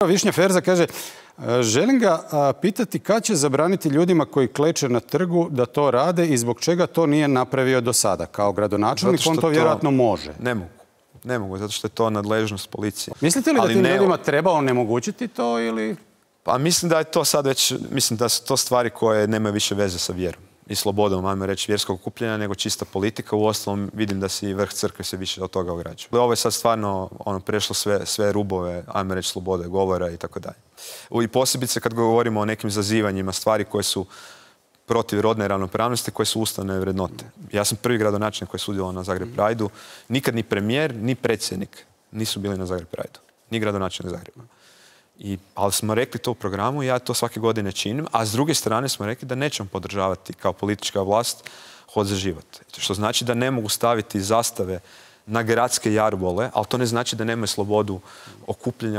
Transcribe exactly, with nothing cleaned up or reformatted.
Višnja Ferza kaže, želim ga pitati kad će zabraniti ljudima koji kleče na trgu da to rade i zbog čega to nije napravio do sada. Kao gradonačelnik on to vjerojatno može. Ne mogu. Ne mogu, zato što je to nadležnost policije. Mislite li da tim ljudima treba onemogućiti to ili... Pa mislim da je to sad već, mislim da su to stvari koje nemaju više veze sa vjerom i slobodom, ajmo reći, vjerskog okupljanja, nego čista politika. Uostalom vidim da se i vrh crkve se više od toga ograđuje. Ovo je sad stvarno ono, prešlo sve, sve rubove, ajmo reći, slobode govora i tako dalje. I posebice kad govorimo o nekim zazivanjima, stvari koje su protiv rodne ravnopravnosti, koje su ustavne vrednote. Ja sam prvi gradonačelnik koji je sudjelovao na Zagreb Prideu. Nikad ni premijer, ni predsjednik nisu bili na Zagreb Prideu. Ni gradonačelnik Zagreba. I, ali smo rekli to u programu i ja to svake godine činim, a s druge strane smo rekli da nećemo podržavati kao politička vlast Hod za život. Što znači da ne mogu staviti zastave na gradske jarbole, ali to ne znači da nemaju slobodu okupljanja